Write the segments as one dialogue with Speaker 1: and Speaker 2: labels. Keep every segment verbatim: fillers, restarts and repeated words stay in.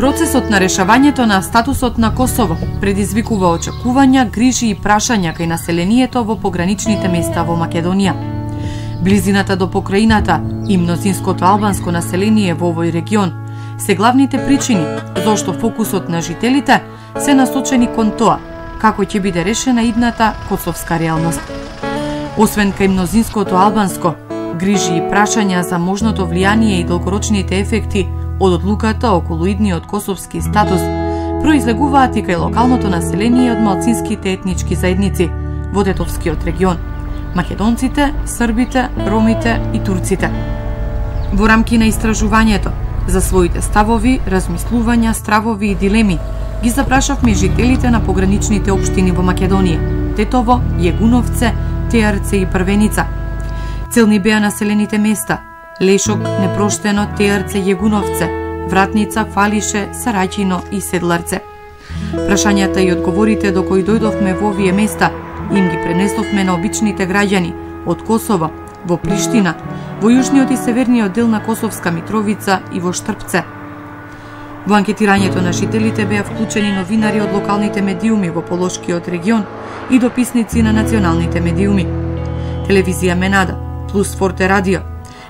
Speaker 1: Процесот на решавањето на статусот на Косово предизвикува очекувања, грижи и прашања кај населението во пограничните места во Македонија. Близината до покраината и мнозинското албанско население во овој регион се главните причини зошто фокусот на жителите се насочени кон тоа како ќе биде решена идната косовска реалност. Освен кај мнозинското албанско, грижи и прашања за можното влијание и долгорочните ефекти од одлуката околу идниот косовски статус произлегуваат и кај локалното население од малцинските етнички заедници во Тетовскиот регион – македонците, србите, ромите и турците. Во рамки на истражувањето за своите ставови, размислувања, стравови и дилеми ги запрашавме жителите на пограничните општини во Македонија – Тетово, Јегуновце, Теарце и Првеница. Целни беа населените места – Лешок, Непроштено, Теарце, Јегуновце, Вратница, Фалише, Сараќино и Седларце. Прашањата и одговорите до кои дојдовме во овие места им ги пренесовме на обичните граѓани од Косово, во Приштина, во јужниот и северниот дел на Косовска Митровица и во Штрпце. Во анкетирањето на жителите беа вклучени новинари од локалните медиуми во Полошкиот регион и дописници на националните медиуми. Телевизија Менада, Плюс Форте Радио,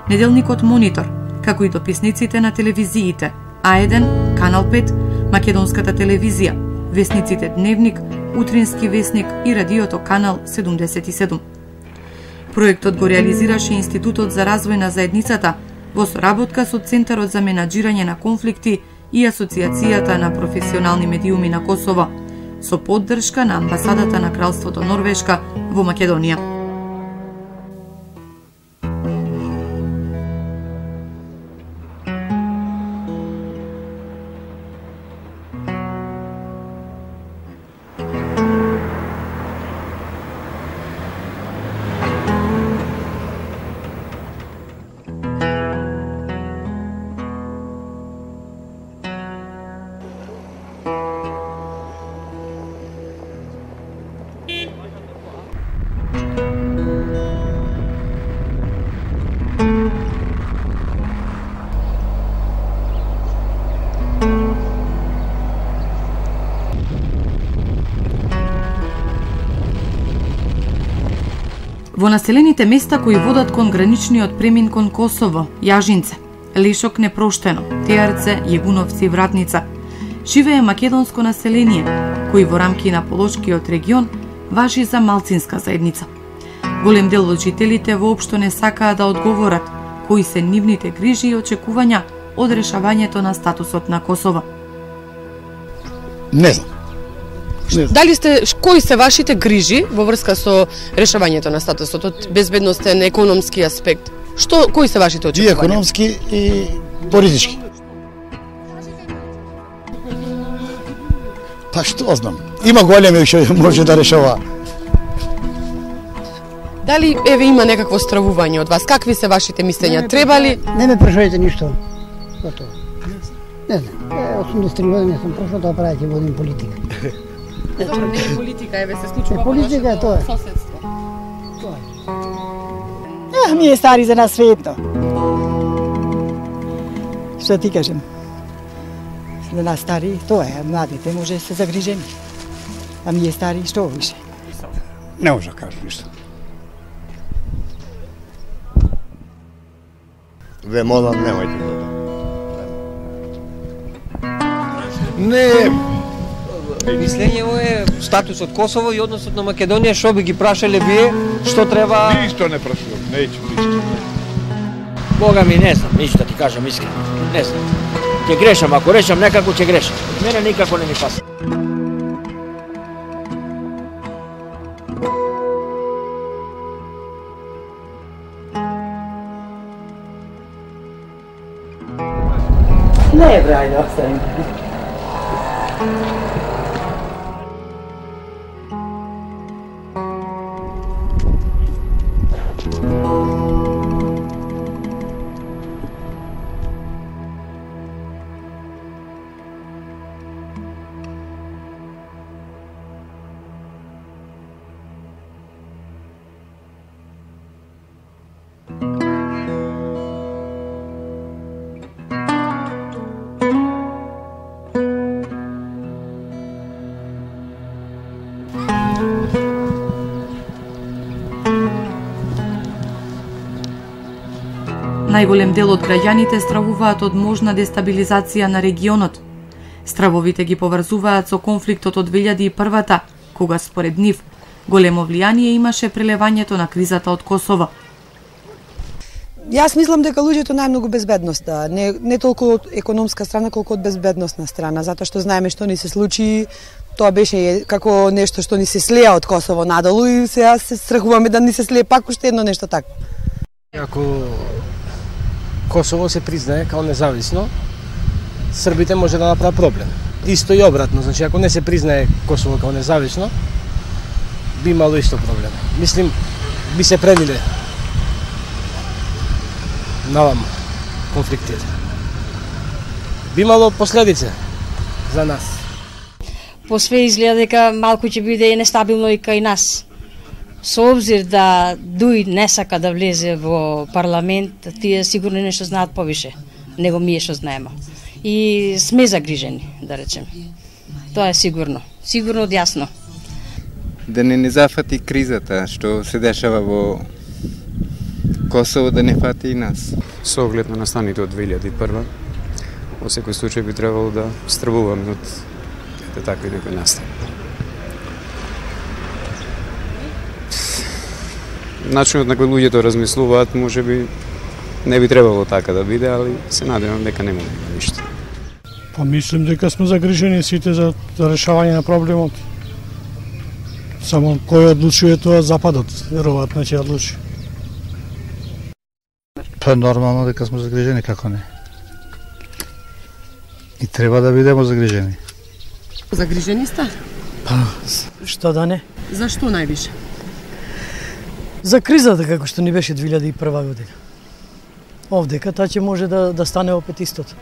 Speaker 1: неделникот Монитор, како и дописниците на телевизиите А еден, Канал пет, Македонската телевизија, весниците Дневник, Утрински весник и радиото Канал седумдесет и седум. Проектот го реализираше Институтот за развој на заедницата во соработка со Центарот за менаџирање на конфликти и Асоциацијата на професионални медиуми на Косово, со поддршка на Амбасадата на Кралството Норвешка во Македонија. Во населените места кои водат кон граничниот премин кон Косово, Јажинце, Лешок, Непроштено, Теарце, Јегуновци и Вратница, живее македонско население, кои во рамки на Полошкиот регион важи за малцинска заедница. Голем дел од жителите воопшто не сакаа да одговорат кои се нивните грижи и очекувања од решавањето на статусот на Косово.
Speaker 2: Не знам.
Speaker 3: Дали сте, кои се вашите грижи во врска со решавањето на статусот од безбедностен, економски аспект? Што, кои се вашите очекувања?
Speaker 2: И економски и политички. Па што знам. Има големи што може да решава.
Speaker 3: Дали еве има некакво стравување од вас? Какви се вашите мислења? Треба ли?
Speaker 4: Не ме прашајте ништо. Готово. Не знам. осумдесет и три години сум прошол да правите водим политика.
Speaker 3: Добро, не е политика, еве се случува
Speaker 4: во нашето тоа е.
Speaker 3: соседство.
Speaker 4: Тоа
Speaker 5: е. Ми е стари за нас светно. Што ти кажем? За нас стари, тоа е, младите може се загрижени. А ми е стари, што више?
Speaker 2: Не може да кажам ништо.
Speaker 6: Ве молам, немајте тоа.
Speaker 7: Не, мислењево е статусот Косово и односот на Македонија, што би ги прашале вие, што треба...
Speaker 8: Ништо не прашувам, неќу ништо.
Speaker 7: Бога ми, не знам, ништо ти кажам искрено, не знам. Ќе грешам, ако решам некако ќе грешам. Мене никако не ми паса.
Speaker 5: Не е брајде, оставим.
Speaker 1: Најголем дел од граѓаните стравуваат од можна дестабилизација на регионот. Стравовите ги поврзуваат со конфликтот од две илјади и прва, кога според нив големо влијание имаше прелевањето на кризата од Косово.
Speaker 5: Јас мислам дека луѓето најмногу безбедност, да, не, не толку од економска страна, колку од безбедносна страна, затоа што знаеме што ни се случи, тоа беше како нешто што ни се слеа од Косово надолу и сега се страхуваме да ни се слее пак уште едно нешто такво.
Speaker 7: Ако Косово се признае као независно, србите може да направат проблем. Исто и обратно, значи ако не се признае Косово као независно, би имало исто проблем. Мислим, би се прелиле наваму конфликтите. Би имало последица за нас.
Speaker 9: По све изгледа дека малку ќе биде нестабилно и кај нас. Со обзир да Дуј не сака да влезе во парламент, тие сигурно нешто знаат повише него ние што знаеме. И сме загрижени, да речем. Тоа е сигурно. Сигурно јасно.
Speaker 10: Да не ни зафати кризата што се дешава во Косово, да не фати и нас.
Speaker 11: Со оглед на настаните од две илјади и прва, во секој случај би требало да стравуваме од ете такви некои настани. Начинот на кој луѓето размислуваат, може би не би требало така да биде, али се надевам дека нема да има ништо.
Speaker 12: Па мислам дека сме загрижени сите за, за решавање на проблемот. Само кој одлучува тоа, Западот веројатно ќе одлучи.
Speaker 2: Па нормално дека сме загрижени, како не. И треба да бидеме загрижени.
Speaker 3: Загрижени сте?
Speaker 12: Па, што да не?
Speaker 3: Зашто највише?
Speaker 12: За кризата како што ни беше две илјади и прва година. Овдека таа ќе може да, да стане опет истото.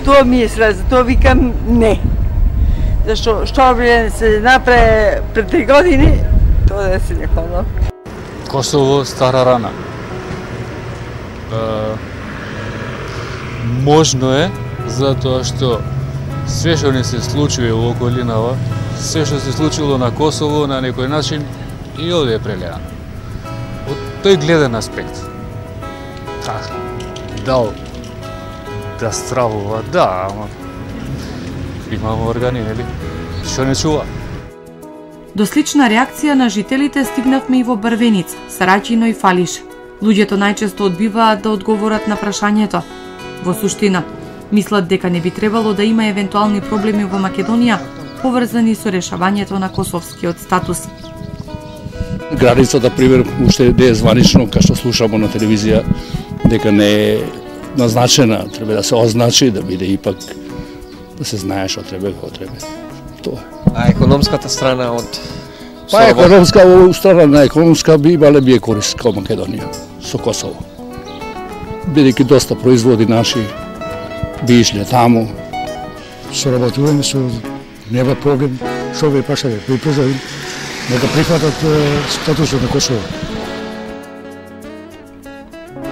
Speaker 13: Тоа ми е срез, тоа викам не. Зашто што би се направи пред три години, тоа да се не хвала.
Speaker 14: Косово стара рана. Uh, можно е, затоа што све што не се случи во околинава, све што се случило на Косово на некој начин и овде е прелеано. Од тој гледен аспект. Така, дал да стравува, да, ама имамо органи, нели? Што не чува?
Speaker 1: До слична реакција на жителите стигнавме и во Брвеница, Сараќино и Фалиш. Луѓето најчесто одбиваат да одговорат на прашањето. Во суштина, мислат дека не би требало да има евентуални проблеми во Македонија поврзани со решавањето на косовскиот статус.
Speaker 15: Границата, пример, уште не е званично, кај што слушамо на телевизија, дека не е назначена, треба да се означи, да биде ипак, да се знае што треба и како треба. Тоа.
Speaker 7: А економската страна од
Speaker 15: Па економска, страна на економска би имале би е корист као Македонија со Косово. Бидејќи доста производи наши би ишле таму.
Speaker 2: Соработуваме со нема проблем, што ви прашале, ви позовим нека прифатат статусот на Косово.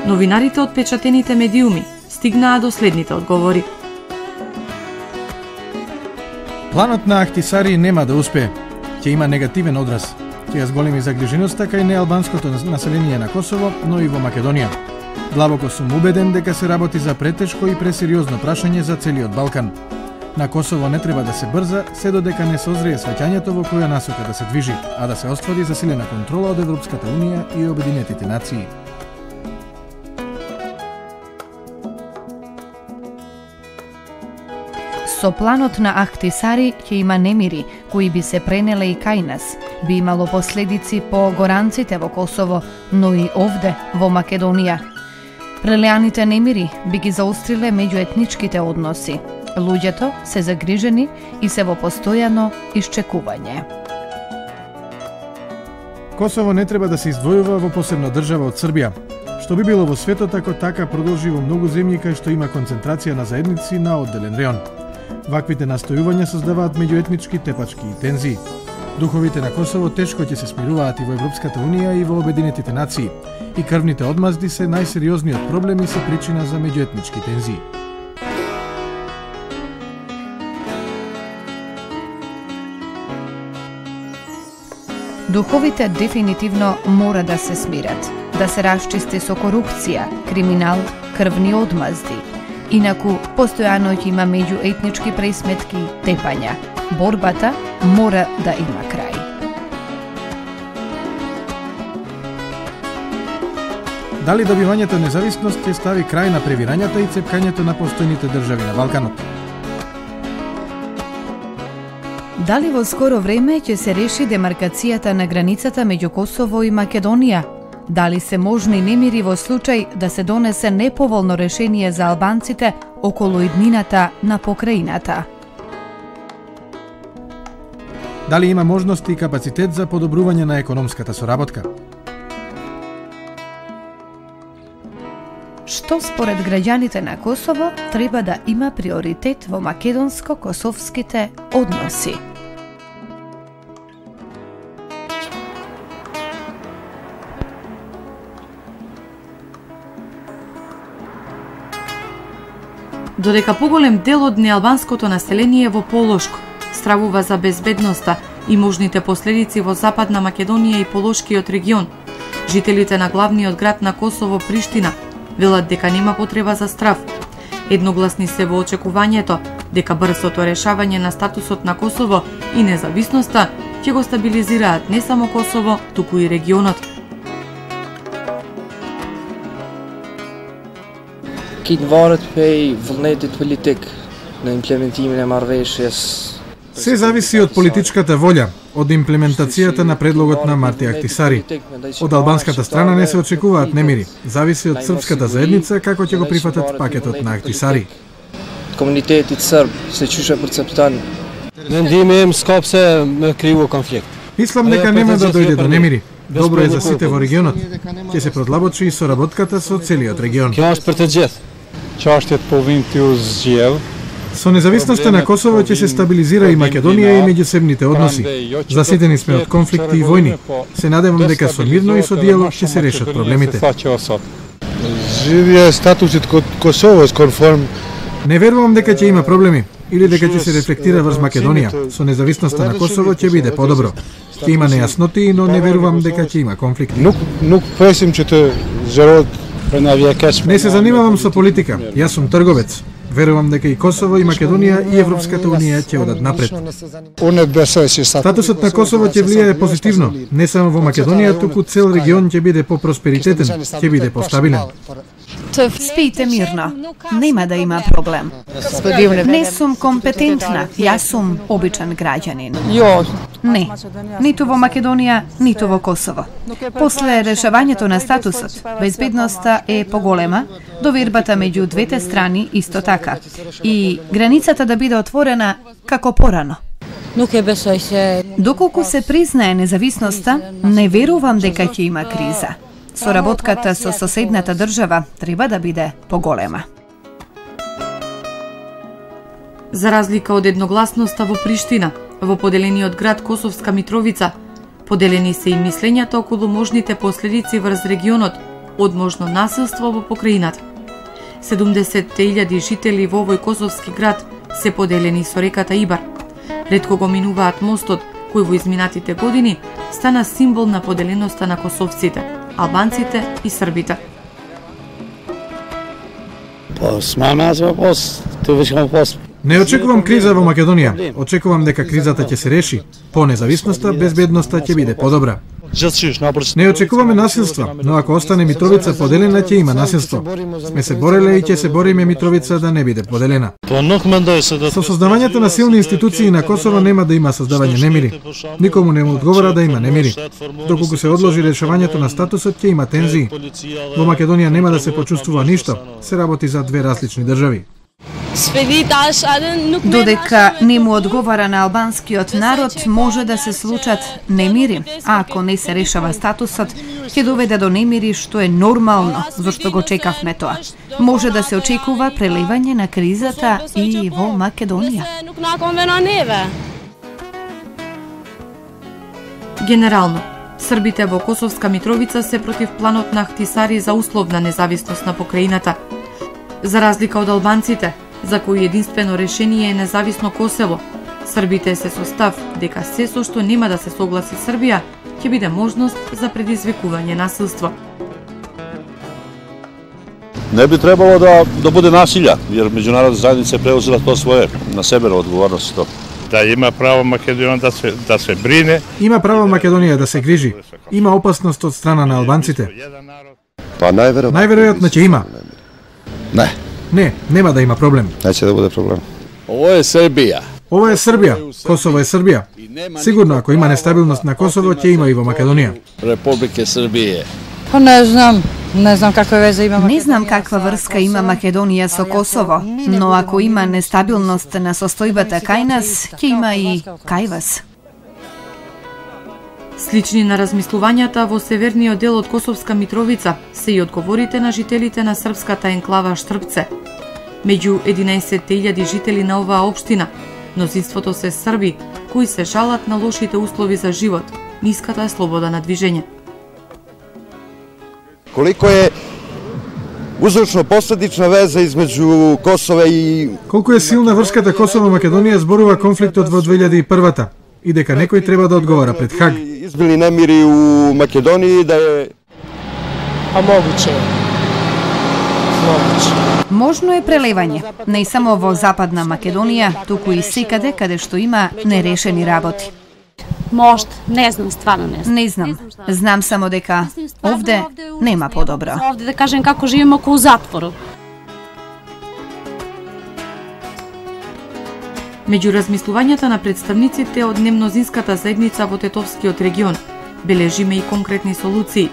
Speaker 1: Новинарите од печатените медиуми стигнаа до следните одговори.
Speaker 16: Планот на Ахтисари нема да успее. Ќе има негативен одраз. Ќе ја зголеми загриженоста кај неалбанското население на Косово, но и во Македонија. Длабоко сум убеден дека се работи за претешко и пресериозно прашање за целиот Балкан. На Косово не треба да се брза, се додека не созрее сваќањето во која насока да се движи, а да се оствари засилена контрола од Европската Унија и Обединетите нации.
Speaker 17: Со планот на Ахтисари ќе има немири, кои би се пренеле и кај нас. Би имало последици по горанците во Косово, но и овде, во Македонија. Прелеаните немири би ги заостриле меѓуетничките односи. Луѓето се загрижени и се во постојано исчекување.
Speaker 16: Косово не треба да се издвојува во посебна држава од Србија, што би било во светот ако така продолжи во многу земји кај што има концентрација на заедници на одделен реон. Ваквите настојувања создаваат меѓуетнички тепачки и тензии. Духовите на Косово тешко ќе се смируваат и во Европската Унија и во Обединетите нации. И крвните одмазди се најсериозниот проблем и се причина за меѓуетнички тензии.
Speaker 17: Духовите дефинитивно мора да се смират, да се расчисти со корупција, криминал, крвни одмазди. Инаку, постојано ќе има меѓуетнички пресметки и тепања. Борбата мора да има крај.
Speaker 16: Дали добивањето независност ќе стави крај на превирањата и цепкањето на постојните држави на Балканот?
Speaker 17: Дали во скоро време ќе се реши демаркацијата на границата меѓу Косово и Македонија? Дали се можни немири во случај да се донесе неповолно решение за албанците околу иднината на покраината?
Speaker 16: Дали има можности и капацитет за подобрување на економската соработка?
Speaker 17: Што според граѓаните на Косово треба да има приоритет во македонско-косовските односи?
Speaker 1: Додека поголем дел од неалбанското население во Полошко стравува за безбедноста и можните последици во Западна Македонија и Полошкиот регион, жителите на главниот град на Косово, Приштина, велат дека нема потреба за страв. Едногласни се во очекувањето дека брзото решавање на статусот на Косово и независноста ќе го стабилизираат не само Косово, туку и регионот.
Speaker 18: Kitë varet pej vullnetit politik në implementimin e marrëveshjes.
Speaker 16: Се зависи од политичката волја, од имплементацијата на предлогот на Марти Ахтисари. Од албанската страна не се очекуваат немири. Зависи од српската заедница како ќе го прифатат пакетот на Ахтисари.
Speaker 18: Комунитетот срб се чуше перцептан.
Speaker 7: Мендими им скопсе ме криво конфликт.
Speaker 16: Мислам дека нема да дојде до немири. Добро е за сите во регионот. Ќе се продлабочи и соработката со целиот регион.
Speaker 7: Ќе është për të gjithë.
Speaker 8: Çështjet po vijnë t'ju zgjedh.
Speaker 16: Со независноста на Косово ќе се стабилизира и Македонија и меѓусебните односи. Заситени сме од конфликти и војни. Се надевам дека со мирно и со диалог ќе се решат проблемите.
Speaker 8: Згидhja e statusit Kosovës konform.
Speaker 16: Не верувам дека ќе има проблеми или дека ќе се рефлектира врз Македонија. Со независноста на Косово ќе биде подобро. Ќе има нејасноти, но не верувам дека ќе има конфликти.
Speaker 8: Nuk nuk presim që të zgjerohet.
Speaker 16: Не се занимавам со политика. Јас сум трговец. Верувам дека и Косово, и Македонија, и Европската Унија ќе одат напред. Статусот на Косово ќе влијае позитивно, не само во Македонија, туку цел регион ќе биде по-просперитетен, ќе биде постабилен.
Speaker 17: Спијте мирно, нема да има проблем. Не сум компетентна, јас сум обичен граѓанин. Не, ниту во Македонија, ниту во Косово. После решавањето на статусот, безбедноста е поголема, довербата меѓу двете страни исто така, и границата да биде отворена како порано. Доколку се признае независноста, не верувам дека ќе има криза. Соработката со соседната држава треба да биде поголема.
Speaker 1: За разлика од едногласноста во Приштина, во поделениот град Косовска Митровица, поделени се и мислењата околу можните последици врз регионот од можно насилство во покраината. седумдесет илјади жители во овој косовски град се поделени со реката Ибар. Ретко го минуваат мостот, кој во изминатите години стана символ на поделеноста на косовците, албанците и србите.
Speaker 16: Не очекувам криза во Македонија. Очекувам дека кризата ќе се реши. По независноста, безбедноста ќе биде подобра. Не очекуваме насилство, но ако остане Митровица поделена, ќе има насилство. Сме се бореле и ќе се бориме Митровица да не биде поделена. Со создавањето на силни институции на Косово нема да има создавање немири. Никому не му одговара да има немири. Доколку се одложи решавањето на статусот, ќе има тензии. Во Македонија нема да се почувствува ништо. Се работи за две различни држави.
Speaker 17: Додека не му одговара на албанскиот народ, може да се случат немири, а ако не се решава статусот, ќе доведе до немири, што е нормално, зашто го чекавме тоа. Може да се очекува прелевање на кризата и во Македонија.
Speaker 1: Генерално, србите во Косовска Митровица се против планот на Ахтисари за условна независност на покраината. За разлика од албанците, за кои единствено решение е независно Косово, србите се со став дека се со што нема да се согласи Србија ќе биде можност за предизвикување насилство.
Speaker 15: Не би требало да, да bude nasilja, jer međunarodna zajednica je preuzela to svoje na sebe na odgovornost to.
Speaker 19: Да има право Македонија да се да се брине.
Speaker 16: Има право Македонија да се грижи. Има опасност од страна на албанците.
Speaker 6: Па најверојатно.
Speaker 16: Најверојатно ќе има.
Speaker 6: Не.
Speaker 16: Не, нема да има проблем.
Speaker 6: Неќе да буде проблем.
Speaker 15: Ovo je Srbija.
Speaker 16: Ова е Србија. Косово е Србија. Сигурно ако има нестабилност на Косово, ќе има и во Македонија.
Speaker 15: Република Србија.
Speaker 20: Па не знам. Не знам каква веза има Македонија.
Speaker 17: Не знам каква врска има Македонија со Косово, но ако има нестабилност на состојбата кај нас, ќе има и кај вас.
Speaker 1: Слични на размислувањата во северниот дел од Косовска Митровица се и одговорите на жителите на српската енклава Штрпце. Меѓу единаесет илјади жители на оваа општина, мнозинството се срби кои се жалат на лошите услови за живот, ниската слобода на движење.
Speaker 6: Колико е uzročno-posledična veza između Kosova i...
Speaker 16: Колку е силна врската Косово-Македонија зборува конфликтот во две илјади и прва и дека некој треба да одговара пред Хаг.
Speaker 6: Избили немири у Македонiji да е...
Speaker 9: А могуче е. Могуче.
Speaker 17: Можно е прелевање, не само во Западна Македонија, туку и секаде каде што има нерешени работи.
Speaker 21: Можда, не знам, стварно не знам.
Speaker 17: Не знам. Знам само дека овде нема подобро.
Speaker 21: Овде да кажем како живееме како у затвору.
Speaker 1: Меѓу размислувањата на представниците од немнозинската заедница во Тетовскиот регион, бележиме и конкретни солуции.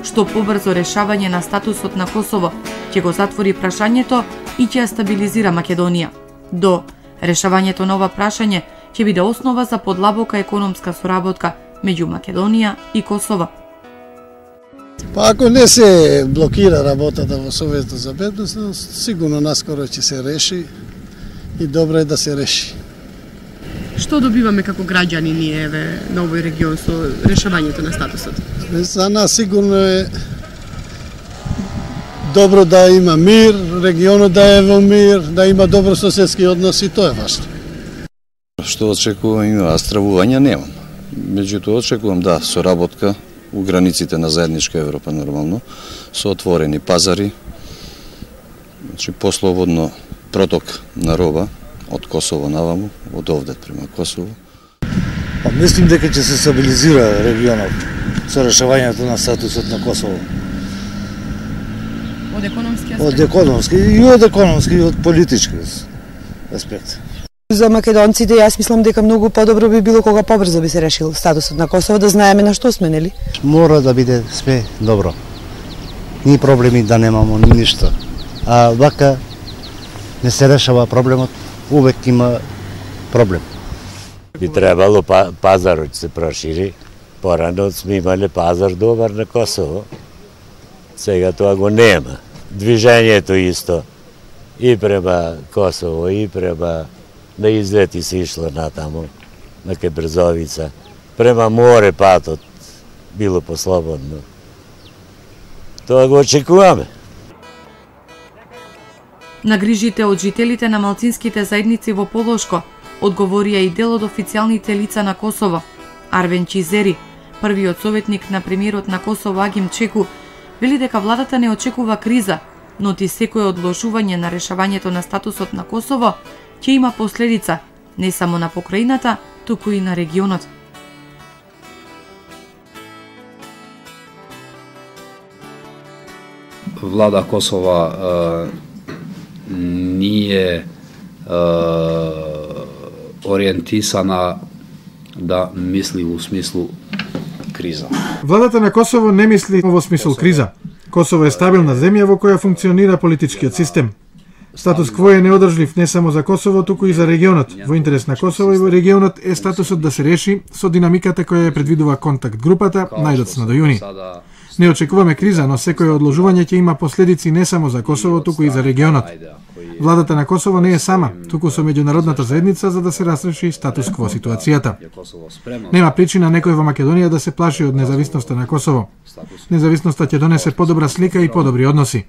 Speaker 1: Што побрзо решавање на статусот на Косово ќе го затвори прашањето и ќе ја стабилизира Македонија. До решавањето на ова прашање ќе биде основа за подлабока економска соработка меѓу Македонија и Косово.
Speaker 22: Па ако не се блокира работата во Советот за безбедност, сигурно наскоро ќе се реши и добро е да се реши.
Speaker 3: Што добиваме како граѓани ние еве на овој регион со решавањето на статусот?
Speaker 22: За нас сигурно е добро да има мир, регионот да е во мир, да има добрососедски односи, тоа е важно.
Speaker 23: Што очекувам има, а стравувања немам. Меѓутоа очекувам да соработка у границите на заедничка Европа нормално, со отворени пазари, значи послободно проток на роба од Косово наваму, од овде према Косово.
Speaker 24: Па мислим дека ќе се стабилизира регионот со решавањето на статусот на Косово.
Speaker 3: Од економски аспект?
Speaker 24: Од економски и од економски и од политички аспект.
Speaker 5: За македонците јас мислам дека многу подобро би било кога побрзо би се решил статусот на Косово, да знаеме на што сме, нели?
Speaker 4: Мора да биде све добро. Ни проблеми да немамо, ни ништо. А вака не се решава проблемот, увек има проблем.
Speaker 25: Би требало па, пазарот се прошири. Порано сме имале пазар добар на Косово. Сега тоа го нема. Движењето исто и према Косово и према на излети се ишло натаму, на кај Брзовица. Према море патот било послободно. Тоа го очекуваме.
Speaker 1: На грижите од жителите на малцинските заедници во Полошко одговорија и дел од официјалните лица на Косово. Арвен Чизери, првиот советник на премиерот на Косово Агим Чеку, вели дека владата не очекува криза, но ти секое одложување на решавањето на статусот на Косово ќе има последица не само на покрајината, туку и на регионот.
Speaker 26: Влада Косова е, nije e, orijentisana da misli u smislu kriza.
Speaker 16: Владата на Косово не мисли во смисол криза. Косово е стабилна земја во која функционира политичкиот систем. Статус кво е неодржлив не само за Косово, туку и за регионот. Во интерес на Косово и во регионот е статусот да се реши со динамиката која ја предвидува контакт групата најдоцна до јуни. Не очекуваме криза, но секое одложување ќе има последици не само за Косово, туку и за регионот. Владата на Косово не е сама, туку со меѓународната заедница за да се разреши статус кво ситуацијата. Нема причина некој во Македонија да се плаши од независноста на Косово. Независноста ќе донесе подобра слика и подобри односи.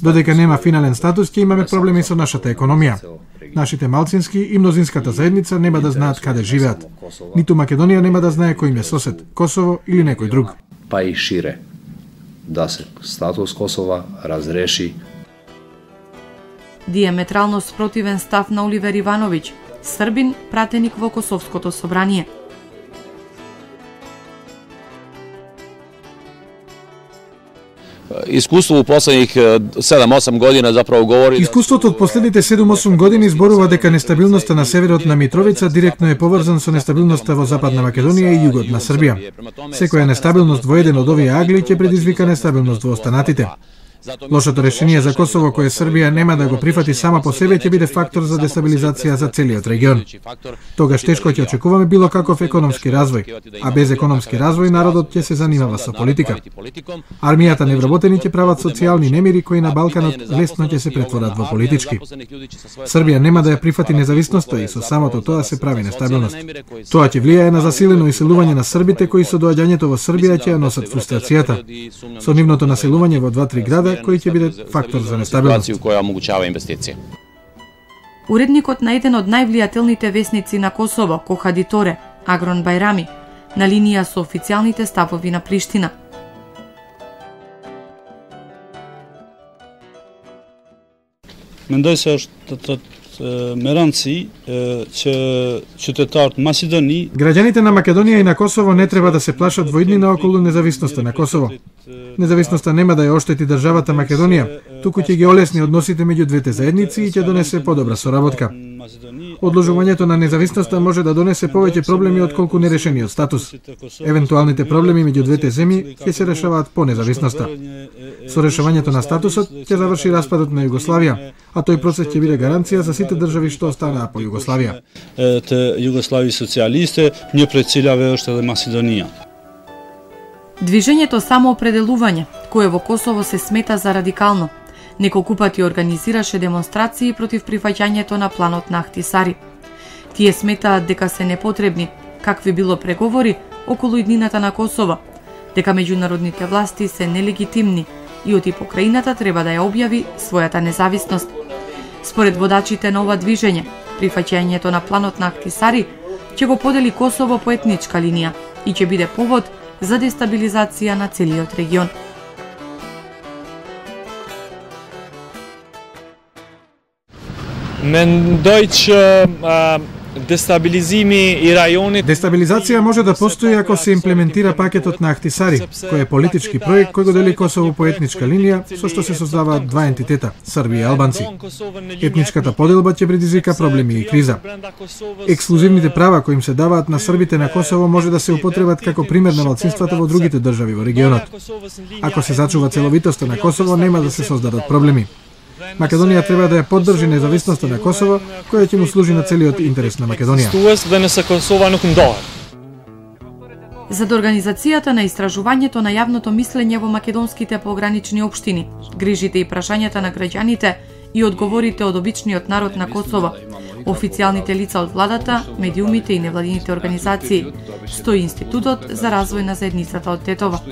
Speaker 16: Додека нема финален статус, ќе имаме проблеми со нашата економија. Нашите малцински и мнозинската заедница нема да знаат каде живеат. Ниту Македонија нема да знае кој им е сосед, Косово или некој друг.
Speaker 26: Па и шире, да се статус Косова разреши.
Speaker 1: диаметрално спротивен став на Оливер Ивановиќ, србин пратеник во Косовското собрание.
Speaker 2: Искуство у последних седум-осум година заправо говори...
Speaker 16: Искуството од последните седум-осум години зборува дека нестабилноста на северот на Митровица директно е поврзан со нестабилноста во Западна Македонија и југот на Србија. Секоја нестабилност во еден од овие агли ќе предизвика нестабилност во останатите. Лошото решение за Косово кое Србија нема да го прифати сама по себе ќе биде фактор за дестабилизација за целиот регион. Тогаш тешко ќе очекуваме било каков економски развој, а без економски развој народот ќе се занимава со политика. Армијата невработени ќе прават социјални немири кои на Балканот лесно ќе се претворат во политички. Србија нема да ја прифати независноста и со самото тоа се прави нестабилност. Тоа ќе влијае на засилено иселување на србите кои со доаѓањето во Србија ќе ја носат фрустрацијата. Со нивното населување во два-три града кој ќе биде фактор за нестабилност.
Speaker 2: Која омогучава инвестиција.
Speaker 1: Уредникот на еден од највлијателните весници на Косово, Кохадиторе, Агрон Бајрами, на линија со официјалните ставови на Приштина.
Speaker 10: Mendoj se është të me rëndësi që qytetarët Македони.
Speaker 16: Граѓаните на Македонија и на Косово не треба да се плашат во иднина околу независноста на Косово. Независноста нема да ја оштети државата Македонија, туку ќе ги олесни односите меѓу двете заедници и ќе донесе подобра соработка. Одложувањето на независноста може да донесе повеќе проблеми отколку нерешениот статус. Евентуалните проблеми меѓу двете земји ќе се решаваат по независноста. Со решавањето на статусот ќе заврши распадот на Југославија, а тој процес ќе биде гаранција за сите држави што останаа по Југославија.
Speaker 10: Те Југослави социјалисте, një prej cilave është edhe Македонија.
Speaker 1: Движењето самоопределување, кое во Косово се смета за радикално, неколку пати организираше демонстрации против прифаќањето на планот на Ахтисари. Тие сметаат дека се непотребни, какви било преговори околу иднината на Косово, дека меѓународните власти се нелегитимни и оти покрајината треба да ја објави својата независност. Според водачите на ова движење, прифаќањето на планот на Ахтисари ќе го подели Косово по етничка линија и ќе биде повод за дестабилизација на целиот регион.
Speaker 11: Mendoj që destabilizimi i rajonit...
Speaker 16: Дестабилизација може да постои ако се имплементира пакетот на Ахтисари, кој е политички проект кој го дели Косово по етничка линија, со што се создаваат два ентитета, Срби и албанци. Етничката поделба ќе предизвика проблеми и криза. Ексклузивните права кои им се даваат на србите на Косово може да се употребат како пример на малцинствата во другите држави во регионот. Ако се зачува целовитоста на Косово, нема да се создадат проблеми. Македонија треба да ја поддржи независноста на Косово, која ќе му служи на целиот интерес на Македонија.
Speaker 1: За организацијата на истражувањето на јавното мислење во македонските погранични општини, грижите и прашањата на граѓаните и одговорите од обичниот народ на Косово, официјалните лица од владата, медиумите и невладините организации, стои Институтот за развој на заедницата од Тетово.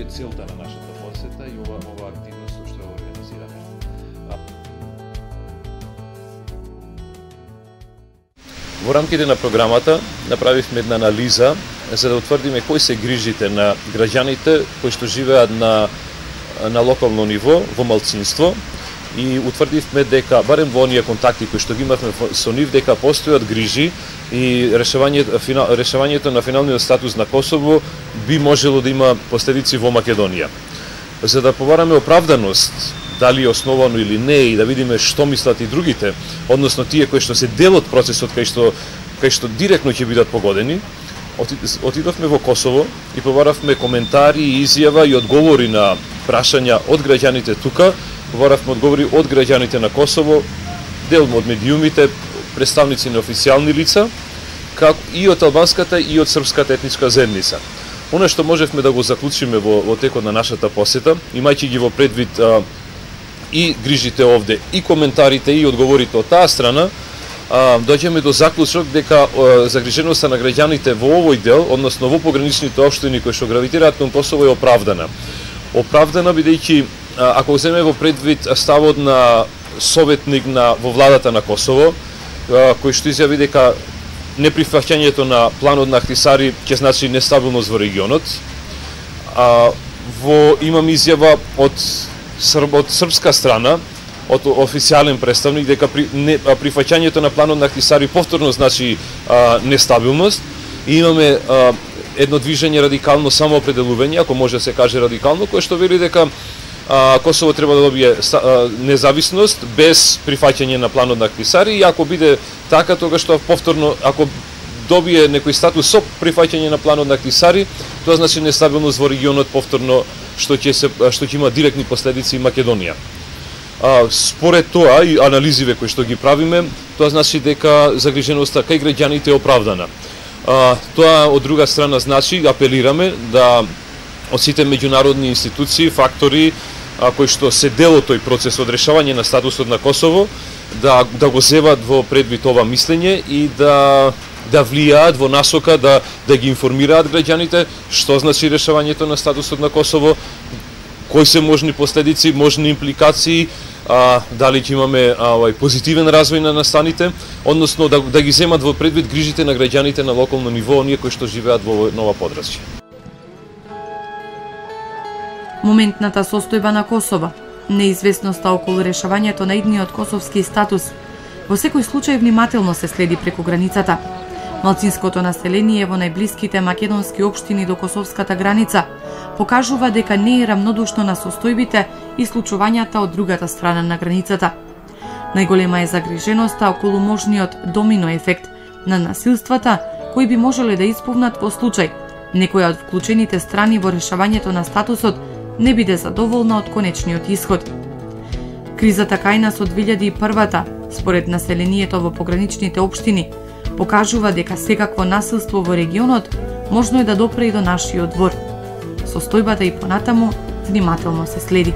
Speaker 2: Во рамките на програмата направивме една анализа за да утврдиме кои се грижите на граѓаните кои што живеат на на локално ниво во малцинство и утврдивме дека барем во оние контакти кои што ги имавме со нив дека постојат грижи и решавањето решавањето на финалниот статус на Косово би можело да има последици во Македонија. За да побараме оправданост дали е основано или не и да видиме што мислат и другите, односно тие кои што се дел од процесот кај што кај што директно ќе бидат погодени, отидовме во Косово и побаравме коментари и изјава и одговори на прашања од граѓаните тука, побаравме одговори од граѓаните на Косово, дел од медиумите, представници на официјални лица, како и од албанската и од српската етничка заедница. Оно што можевме да го заклучиме во, во текот на нашата посета, имајќи ги во предвид а, и грижите овде, и коментарите, и одговорите од таа страна, а, доаѓаме до заклучок дека а, загриженоста на граѓаните во овој дел, односно во пограничните општини кои што гравитираат кон Косово е оправдана. Оправдана бидејќи, а, ако земеме во предвид ставот на советник на во владата на Косово, а, кој што изјави дека неприфаќањето на планот на Ахтисари ќе значи нестабилност во регионот, а, во имам изјава од Срб, од српска страна, од официјален представник дека при, не, прифаќањето на планот на Ахтисари повторно значи а, нестабилност и имаме а, едно движење радикално самоопределување, ако може да се каже радикално, кое што вели дека а, Косово треба да добие а, независност без прифаќање на планот на Ахтисари и ако биде така, тогаш што повторно, ако добие некој статус со прифаќање на планот на Ахтисари, тоа значи нестабилност во регионот повторно што ќе се што ќе има директни последици и Македонија. А, според тоа и анализиве кои што ги правиме, тоа значи дека загриженоста кај граѓаните е оправдана. А, тоа од друга страна значи апелираме да од сите меѓународни институции, фактори а, кои што се дел од тој процес од решавање на статусот на Косово, да да го зеват во предвид ова мислење и да да влијаат во насока да да ги информираат граѓаните што значи решавањето на статусот на Косово, кои се можни последици, можни импликации, а, дали ќе имаме а, овај позитивен развој на настаните, односно да, да ги земат во предвид грижите на граѓаните на локално ниво, оние кои што живеат во нова подрачје.
Speaker 1: Моментната состојба на Косово, неизвестноста околу решавањето на идниот косовски статус, во секој случај внимателно се следи преку границата. Малцинското население во најблиските македонски општини до косовската граница покажува дека не е рамнодушно на состојбите и случувањата од другата страна на границата. Најголема е загриженоста околу можниот домино ефект на насилствата кои би можеле да исповнат во случај некоја од вклучените страни во решавањето на статусот не биде задоволна од конечниот исход. Кризата кај нас од две илјади и прва, според населението во пограничните општини, покажува дека секакво насилство во регионот можно е да допре и до нашиот двор. Состојбата и понатаму внимателно се следи.